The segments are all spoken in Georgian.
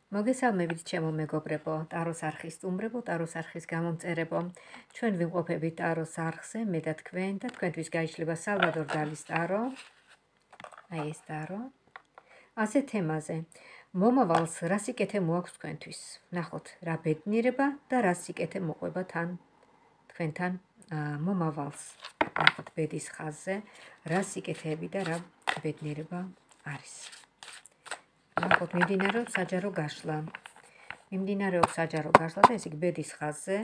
მოგესალმებით ჩემო მეგობრებო, ტაროს არხის სტუმრებო, ტაროს არხის გამომწერებო. ჩვენ ვიმყოფებით ტაროს არხზე, მე და თქვენ და თქვენთვის გაიშლება სალვადორ დალის ტარო. აი ეს ტარო. ასე თემაზე. მომავალს რა სიკეთე მოაქვს თქვენთვის? ნახოთ, რა ბედნიერება და რა სიკეთე მოყვება თქვენთან მომავალს. ნახოთ ბედის ხაზზე, რა სიკეთეები და რა ბედნიერება არის. ნახოთ, მიმდინარეობს საჯარო გაშლა. და ეს იქ ბედის ხაზზე,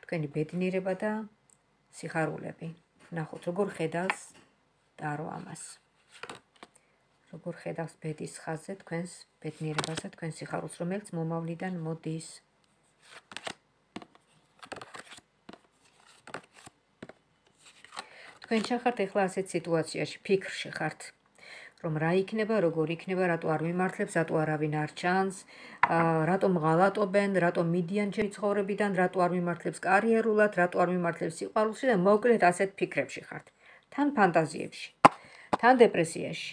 თქვენი ბედნიერება და სიხარულები. ნახოთ, როგორ ხედავს ტარო ამას. როგორ ხედავს ბედის ხაზზე თქვენს ბედნიერებას და თქვენს სიხარულს, რომელიც მომავლიდან მოდის. თქვენ ხართ ახლა ასეთ სიტუაციაში, ფიქრში ხართ. რომ რა იქნება, როგორ იქნება, რატო არ მიმართლებს, რატო არავინ არ ჩანს, რატომ ღალატობენ, რატომ მიდიან ჩემი ცხოვრებიდან, რატო არ მიმართლებს კარიერულად, რატო არ მიმართლებს სიყვარულში და მოკლედ ასეთ ფიქრებში ხართ. თან ფანტაზიებში, თან დეპრესიაში.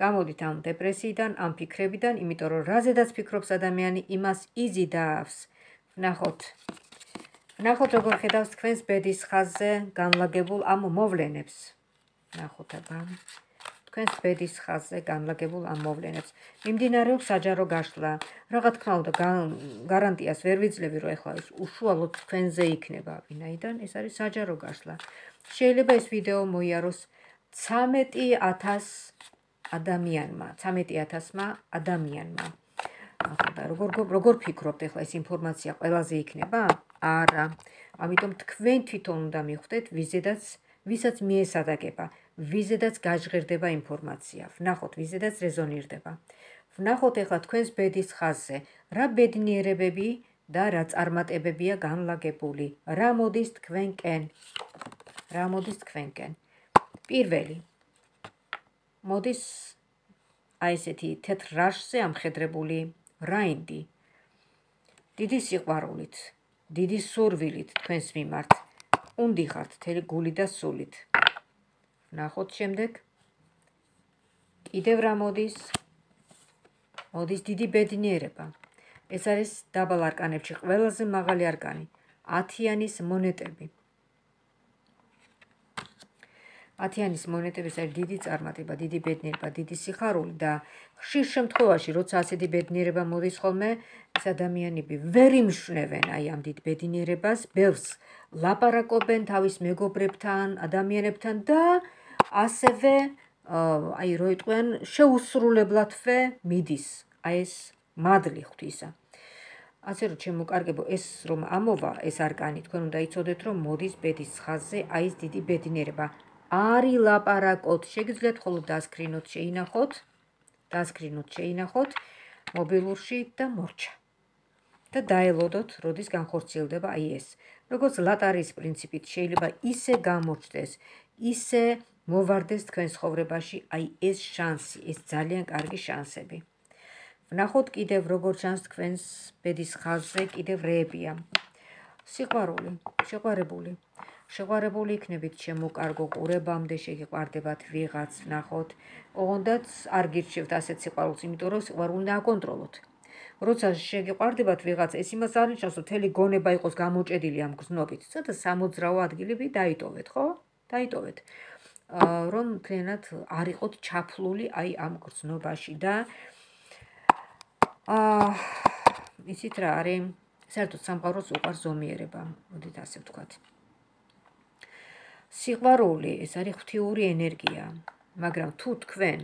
გამოდით ამ დეპრესიიდან, ამ ფიქრებიდან, იმიტომ რომ რაზედაც ფიქრობს ადამიანი, იმას იზიდავს. ნახოთ როგორ ხედავს თქვენს ბედის ხაზზე განლაგებულ ამ მოვლენებს. ნახოთ აბა. თქვენს ბედის ხაზზე განლაგებულ ამ მოვლენებს. მიმდინარეობს საჯარო გაშლა. რა თქმა უნდა, გარანტიას ვერ ვიძლევი, რომ ეხლა ეს უშუალოდ თქვენზე იქნება, ვინაიდან ეს არის საჯარო გაშლა. შეიძლება ეს ვიდეო მოიაროს 13,000 ადამიანმა, 13,000-მა ადამიანმა. ახლა როგორ ფიქრობთ ეხლა ეს ინფორმაცია ყველაზე იქნება? არა. ამიტომ თქვენ თვითონ უნდა მიხვდეთ, ვისაც მიესადაგება, ვიზედაც გაჟღერდება ინფორმაცია. ვნახოთ, ვიზედაც რეზონირდება. ვნახოთ ეხლა თქვენს ბედის ხაზზე, რა ბედნიერებები და რა წარმატებებია განლაგებული. რა მოდის თქვენკენ? პირველი. მოდის აი ესეთი თეთრ რაშზე ამხედრებული რაინდი. დიდი სიყვარულით, დიდი სურვილით თქვენს მიმართ. უნდიხართ მთელი გული და სულით. ნახოთ შემდეგ. კიდევ რა მოდის? მოდის დიდი ბედნიერება. ეს არის დაბალ არკანებში ყველაზე მაღალი არკანი. 10-იანის მონეტები. 10-იანის მონეტების არის დიდი წარმატება, დიდი ბედნიერება, დიდი სიხარული და ხშირ შემთხვევაში, როცა ასეთი ბედნიერება მოდის ხოლმე, ეს ადამიანები ვერ იმშვენებენ აი ამ დიდ ბედნიერებას, ბევრს ლაპარაკობენ თავის მეგობრებთან, ადამიანებთან და ასევე აი რო იტყვიან შეუსრულებლადვე მიდის აი ეს მადლი ღვთისა. ასე რომ ჩემო კარგებო, ეს რომ ამოვა ეს არკანი, თქვენ უნდა იცოდეთ, რომ მოდის ბედის ხაზზე აი ეს დიდი ბედნიერება. არ ილაპარაკოთ, შეგიძლიათ მხოლოდ დასკრინოთ მობილურში და მორჩა. და დაელოდოთ, როდის განხორციელდება აი ეს. როგორც ლატარიის პრინციპით შეიძლება ისე გამოჩნდეს, ისე მოვარდეს თქვენ ცხოვრებაში აი ეს შანსი, ეს ძალიან კარგი შანსები. ვნახოთ კიდევ როგორ ჩანს თქვენს ბედის ხაზზე, კიდევ რეებია. სიყვარული, შეყვარებული იქნებით ჩემო კარგო, ყურებამდე შეგიყვარდებათ ვიღაც, ვნახოთ. ოღონდაც არ გირჩევთ ასეთ სიყვარულს, იმიტომ რომ სიყვარული უნდა აკონტროლოთ. როცა შეგიყვარდებათ ვიღაც, ეს იმას არ ნიშნავს, რომ მთელი გონება იყოს გამოჭედილი ამ გრძნობით. ცოტა სამოძრაო ადგილები დაიტოვეთ, ხო? დაიტოვეთ. რომ მთლიანად არ იყოთ ჩაფლული აი ამ გრძნობაში და იცით რა არის, საერთოდ სამყაროს უყვარს ზომიერება, მოდით ასე ვთქვათ. სიყვარული ეს არის ღვთიური ენერგია, მაგრამ თუ თქვენ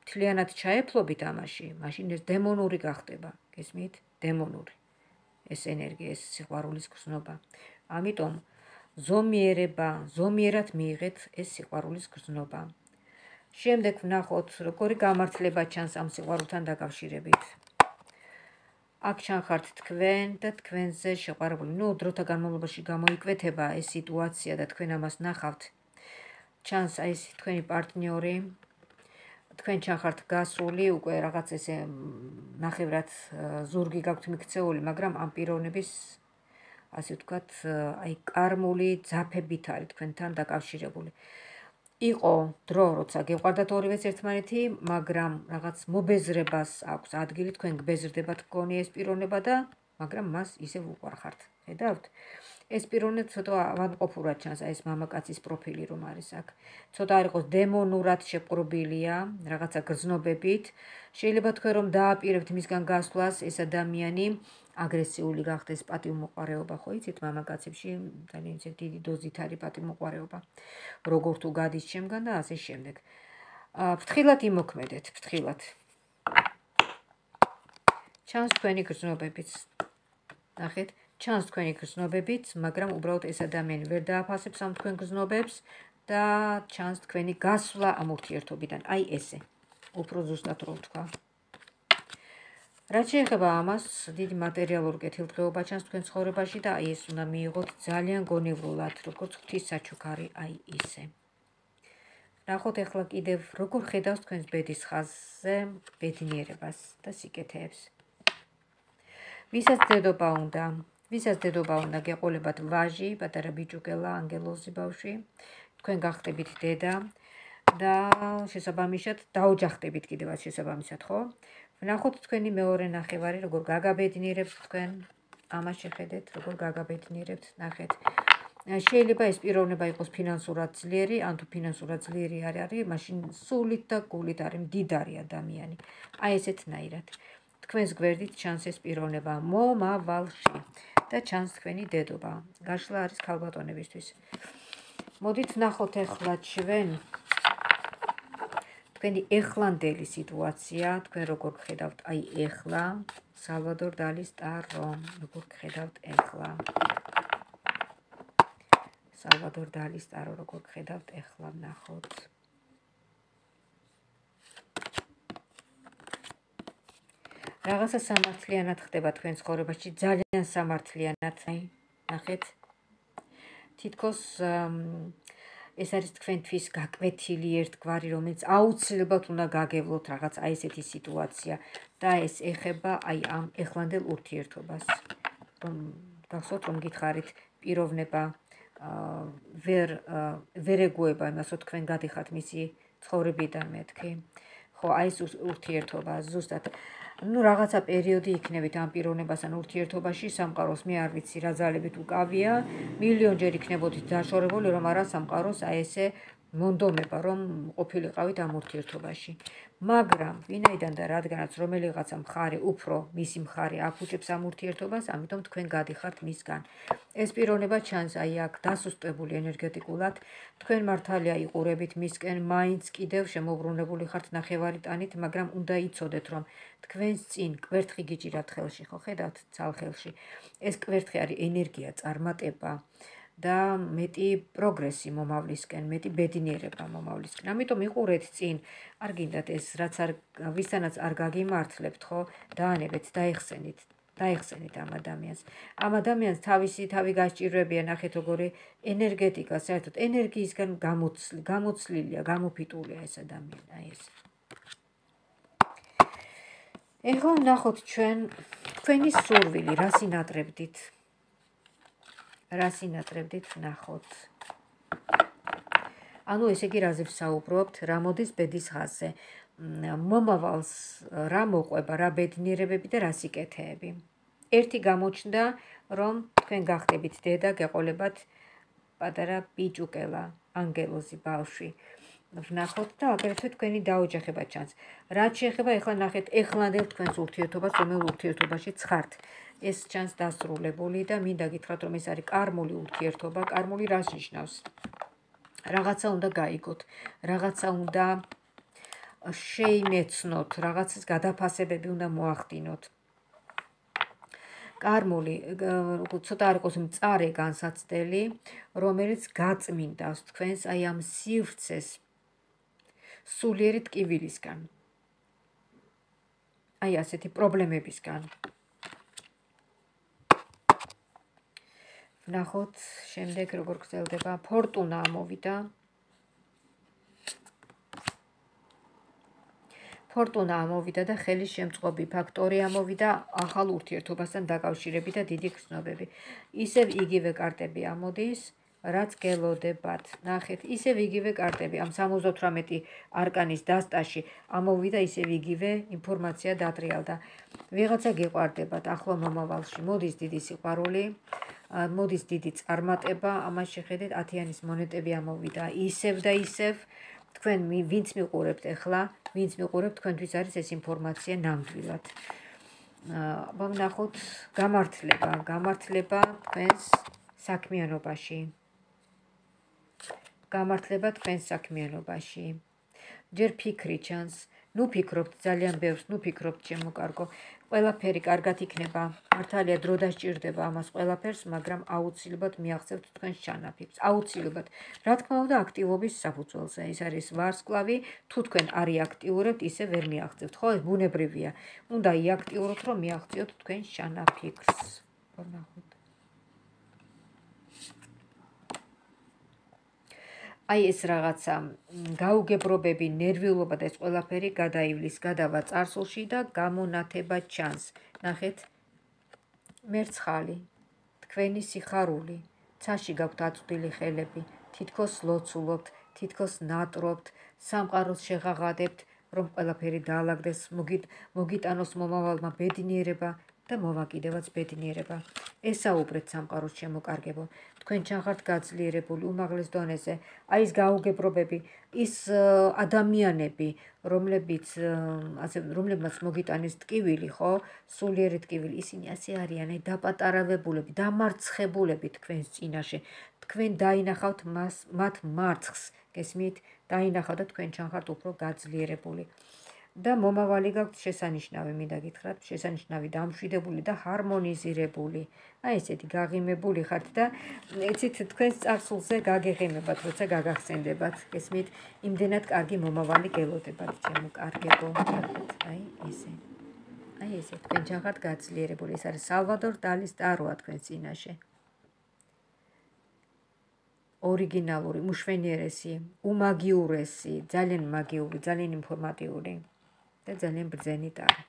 მთლიანად ჩაეფლობით ამაში, მაშინ ეს დემონური გახდება, გესმით? დემონური ეს ენერგია, ეს სიყვარულის გრძნობა. ამიტომ ზომიერად მიიღეთ ეს სიყვარულის გრძნობა. შემდეგ ვნახოთ, როგორი გამართლება ჩანს ამ სიყვარულთან დაკავშირებით. აქ ჩანხართ თქვენ და თქვენზე შეყვარებული. დროთა განმავლობაში გამოიკვეთება ეს სიტუაცია და თქვენ ამას ნახავთ. ჩანს აი ეს თქვენი პარტნიორი. თქვენ ჩანხართ გასული, უკვე რაღაც ესე ნახევრად ზურგი გაქვთ მიქცეული, მაგრამ ამ პიროვნების ასე ვთქვათ, აი კარმული ძაფებით არის თქვენთან დაკავშირებული. იყო დრო, როცა გეყვარდათ ორივეს ერთმანეთი, მაგრამ რაღაც მობეზრებას აქვს ადგილი, თქვენ გბეზრდებათ გონი ეს პიროვნება და მაგრამ მას ისევ უყვარხართ. ხედავთ? ეს პიროვნება ცოტა ავადმყოფურად ჩანს, აი ეს მამაკაცის პროფილი რომ არის აქ. ცოტა არ იყოს დემონურად შეპყრობილია, რაღაცა გრძნობებით. შეიძლება თქვენ რომ დააპირებთ მისგან გასვლას, ეს ადამიანი აგრესიული გახდეს, პატივმოყვარეობა, ხო იცით, მამაკაცებში ძალიან დიდი დოზით არის პატივმოყვარეობა. როგორ თუ გადის ჩემგან და ასე შემდეგ. ფრთხილად იმოქმედეთ, ფრთხილად. ჩანს თქვენი გრძნობებიც. ნახეთ, ჩანს თქვენი გრძნობებიც, მაგრამ უბრალოდ ეს ადამიანი ვერ დააფასებს ამ თქვენ გრძნობებს და ჩანს თქვენი გასვლა ამ ურთიერთობიდან. აი ესე. უფრო ზუსტად რო ვთქვა. რაც შეეხება ამას, დიდი მატერიალური კეთილდღეობა ჩანს თქვენ ცხოვრებაში და აი ეს უნდა მიიღოთ ძალიან გონივრულად, როგორც ღვთის საჩუქარი, აი ისე. ნახოთ ახლა კიდევ როგორ ხედავს თქვენს ბედის ხაზზე ბედნიერებას და სიკეთეებს. ვისაც დედობა უნდა გეყოლებათ ვაჟი, პატარა ბიჭუკელა, ანგელოზი ბავშვი, თქვენ გახდებით დედა და შესაბამისად დაოჯახდებით კიდევაც შესაბამისად, ხო? ვნახოთ თქვენი მეორე ნახევარი, როგორ გაგაბედნიერებთ თქვენ, ამას შეხედეთ, როგორ გაგაბედნიერებთ, ნახეთ. შეიძლება ეს პიროვნება იყოს ფინანსურად ძლიერი, ან თუ ფინანსურად ძლიერი არ არის, მაშინ სულით და გულით არის მდიდარი ადამიანი. აი ესეთნაირად. თქვენს გვერდით ჩანს ეს პიროვნება მომავალში და ჩანს თქვენი დედობა. გაშლა არის ქალბატონებისთვის. მოდით ვნახოთ ახლა ჩვენ თქვენი ეხლანდელი სიტუაცია, თქვენ როგორ გხედავთ აი ეხლა, სალვადორ დალის ტარო, როგორ გხედავთ ეხლა. სალვადორ დალის ტარო, როგორ გხედავთ ეხლა, ვნახოთ. რაღაცა სამართლიანად ხდება თქვენ ცხოვრებაში, ძალიან სამართლიანად. ნახეთ. თითქოს ეს არის თქვენთვის გაკვეთილი ერთგვარი, რომელიც აუცილებლად უნდა გაგევლოთ რაღაც აი ესეთი სიტუაცია და ეს ეხება აი ამ ეხლანდელ ურთიერთობას. გახსოვთ რომ გითხარით პიროვნება ვერ ეგუება იმას, რომ თქვენ გადიხართ მისი ცხოვრებიდან მეთქი. ხო, აი ეს ურთიერთობა ზუსტად რაღაცა პერიოდი იქნებით ამ პიროვნებასთან ურთიერთობაში, სამყაროს მე არ ვიცი რა ძალებით უკავია, მილიონჯერ იქნებოდით დაშორებული, რომ არა სამყაროს აი ესე მონდომება, რომ ყოფილიყავით ამ ურთიერთობაში. მაგრამ ვინაიდან და რადგანაც რომელიღაცა მხარე უფრო მისი მხარე აფუჭებს ამ ურთიერთობას, ამიტომ თქვენ გადიხართ მისგან. ეს პიროვნება ჩანს აი აქ დასუსტებული ენერგეტიკულად, თქვენ მართალია იყურებით მისკენ, მაინც კიდევ შემოbrunებული ხართ ნახევარიტანით, მაგრამ უნდა იცოდეთ, რომ თქვენს წინ კვერთხი გიჭირათ ხელში, ხო ხედავთ ცალხელში. ეს კვერთხი არის ენერგია, წარმატება და მეტი პროგრესი მომავლისკენ, მეტი ბედნიერება მომავლისკენ. ამიტომ იყურეთ წინ, არ გინდათ ეს რაც ვისთანაც არ გაგიმართლებთ, ხო, დაანებეთ, დაეხსენით ამ ადამიანს. ამ ადამიანს თავისი თავი გასჭირვებია, ნახეთ როგორი ენერგეტიკა, საერთოდ ენერგიისგან გამოცლილია, გამოფიტულია ეს ადამიანი, აი ეს. ეხლა ვნახოთ ჩვენ თქვენი სურვილი, რა სინატრებდით. რა სინატრებდით ვნახოთ. ანუ ესე იგი რაზე ვსაუბრობთ, რა მოდის ბედის ხაზზე. მომავალს რა მოყვება, რა ბედნიერებები და რა სიკეთეები. ერთი გამოჩნდა, რომ თქვენ გახდებით დედა, გეყოლებათ პატარა ბიჭუკელა, ანგელოზი ბავშვი. ვნახოთ და აგრეთვე თქვენი დაოჯახება ჩანს. რაც შეეხება ეხლა ნახეთ ეხლანდელ თქვენს ურთიერთობას, რომელ ურთიერთობაში ხართ. ეს ჩანს დასრულებული და მინდა გითხრათ, რომ ეს არის კარმული ურთიერთობა. კარმული რას ნიშნავს? რაღაცა უნდა გაიგოთ, რაღაცა უნდა შეიმეცნოთ, რაღაცის გადაფასებები უნდა მოახდინოთ. კარმული ცოტა არ იყოს მწარე განსაცდელი, რომელიც გაწმინდავს თქვენს აი ამ სივრცეს სულიერი ტკივილისგან. აი ასეთი პრობლემებისგან. ვნახოთ შემდეგ როგორ გრძელდება. ფორტუნა ამოვიდა. ფორტუნა ამოვიდა და ხელის შემწყობი ფაქტორი ამოვიდა ახალ ურთიერთობასთან დაკავშირებით და დიდი გრძნობები. ისევ იგივე კარტები ამოდის. რაც გელოდებათ. ნახეთ, ისევ იგივე კარტები ამ 78 არკანის დასტაში ამოვიდა ისევ იგივე ინფორმაცია დატრიალდა. ვიღაცა გიყვარდებათ ახლო მომავალში, მოდის დიდი სიყვარული, მოდის დიდი წარმატება, ამას შეხედეთ 10-იანის მონეტები ამოვიდა. ისევ და ისევ თქვენ ვინც მიყურებთ ახლა, ვინც მიყურებთ, თქვენთვის არის ეს ინფორმაცია ნამდვილად. ვნახოთ გამართლება თქვენს საქმიანობაში. გამართლება თქვენს საქმიანობაში. ჯერ ფიქრი ჩანს, ნუ ფიქრობთ ძალიან ბევრს, ნუ ფიქრობთ ჩემო კარგო. ყველაფერი კარგად იქნება. მართალია დრო დასჭირდება ამას ყველაფერს, მაგრამ აუცილებლად მიაღწევთ თქვენს ჩანაფიქრს. აუცილებლად. რა თქმა უნდა, აქტივობის საფუძველზე. ეს არის ვარსკვლავი, თუ თქვენ არ იაქტიურებთ, ისე ვერ მიაღწევთ. ხო, ეს ბუნებრივია. უნდა იაქტიუროთ, რომ მიაღწიოთ თქვენს ჩანაფიქრს. ვნახოთ. აი ეს რაღაცა გაუგებრობები, ნერვიულობა და ეს ყველაფერი გადაივლის, გადავა წარსულში და გამონათება ჩანს. ნახეთ, მერცხალი, თქვენი სიხარული, ცაში გაქვთ აწვდილი ხელები, თითქოს ლოცულობთ, თითქოს ნატრობთ, სამყაროს შეღაღადებთ, რომ ყველაფერი დაალაგდეს, მოგიტანოს მომავალმა ბედნიერება და მოვაკიდევაც ბედნიერება. ესაუბრეთ სამყაროს შემოკარგებო. თქვენ ჩახართ გაძლიერებული უმაღლეს დონეზე. აი ეს გაუგებრობები, ის ადამიანები, რომლებმაც მოგიტანეს ტკივილი, ხო? სულიერი ტკივილი, ისინი ასე არიან, დაპატარავებულები, დამარცხებულები თქვენს წინაშე. თქვენ დაინახავთ მათ მარცხს, გესმით? დაინახავთ და თქვენ ჩახართ უფრო გაძლიერებული. და მომავალი გაქვთ შესანიშნავი, მინდა გითხრათ, შესანიშნავი დამშვიდებული და ჰარმონიზირებული. აი ესეთი გაღიმებული ხართ და იცით თქვენს წარსულზე გაგეღიმებათ, როცა გაგახსენდებათ, გესმით? იმდენად კარგი მომავალი გელოდებათ, ჩემო კარგებო. აი ესე. აი ესე, თქვენ ჩახართ გაძლიერებული. ეს არის სალვადორ დალის ტაროა თქვენს წინაშე. ორიგინალური, უშვენიერესი, უმაგიურესი, ძალიან მაგიური, ძალიან ინფორმატიული. და ძალიან ბრძენი ტარო.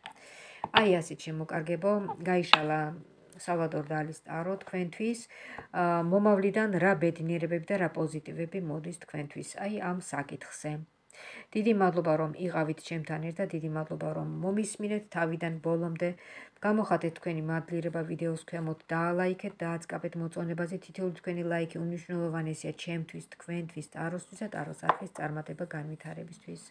აი ასე შემოკარგებო, გაიშალა სალვადორ დალის ტარო თქვენთვის, მომავლიდან რა ბედნიერებები და რა პოზიტივები მოდის თქვენთვის, აი ამ საკითხზე. დიდი მადლობა რომ იყავით ჩემთან ერთად, დიდი მადლობა რომ მომისმინეთ თავიდან ბოლომდე. გამოხატეთ თქვენი მადლიერება ვიდეოს ქვემოთ, დაალაიქეთ, დააწყაბეთ მოწონებაზე, თითოეული თქვენი ლაიქი უმნიშვნელოვანესია ჩემთვის, თქვენთვის, ტაროსთვის და ტაროს არხის წარმატება განვითარებისთვის.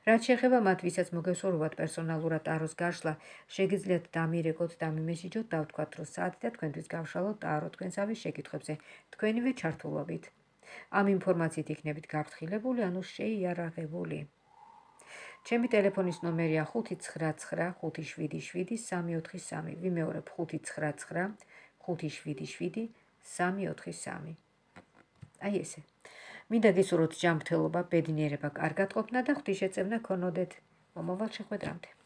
რაც შეეხება მათ, ვისაც მოგესურვებათ პერსონალურად ტაროს გაშლა, შეგიძლიათ დამირეკოთ, დამიმესიჯოთ, დავთქვათ, რომ საათი და თქვენთვის გავშალოთ ტარო თქვენსავე შეკითხვებზე, თქვენივე ჩართულობით. ამ ინფორმაციით იქნებით გაფრთხილებული, ანუ შეიარაღებული. ჩემი ტელეფონის ნომერია 599 577 343. ვიმეორებ 599 577 343. აი ესე. მინდა გისურვოთ ჯანმრთელობა, ბედნიერება, კარგად ყოფნა და ღვთისშეწევნა ქონოდეთ. მომავალ შეხვედრამდე.